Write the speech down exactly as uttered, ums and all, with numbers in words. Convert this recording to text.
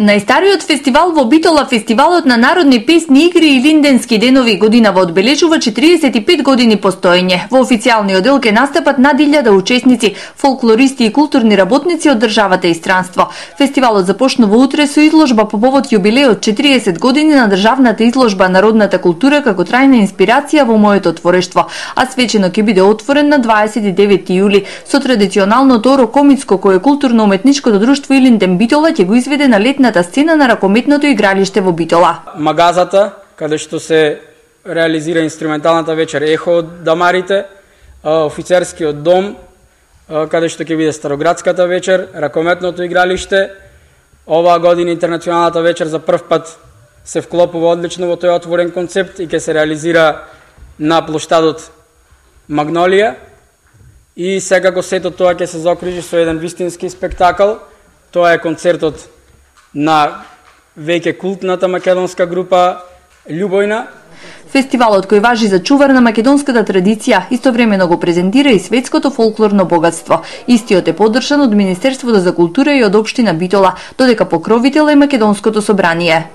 Најстариот фестивал во Битола, фестивалот на народни песни, игри и линденски денови, годинава одбележува четириесет и пет години постоење. Во официјалниот дел ќе настапат над илјада учесници, фолклористи и културни работници од државата и странство. Фестивалот започнува утре со изложба по повод јубилеот четириесет години на државната изложба Народната култура како трајна инспирација во моето творештво, а свечено ќе биде отворен на дваесет и девети јули со традиционалното Орокомицко, кое културно-уметничкото друштво Илинден Битола ќе го изведе на летната сцена на ракометното игралиште во Битола. Магазата, каде што се реализира инструменталната вечер Ехо од Дамарите, офицерскиот дом, каде што ќе биде Староградската вечер, ракометното игралиште. Оваа година интернационалната вечер за прв пат се вклопува одлично во тој отворен концепт и ќе се реализира на плоштадот Магнолија. И секако сето тоа ќе се заокружи со еден вистински спектакл. Тоа е концертот на веќе култната македонска група Љубојна. Фестивалот кој важи за чувар на македонската традиција, истовремено го презентира и светското фолклорно богатство. Истиот е поддржан од Министерството за култура и од општина Битола, додека покровител е Македонското собрание.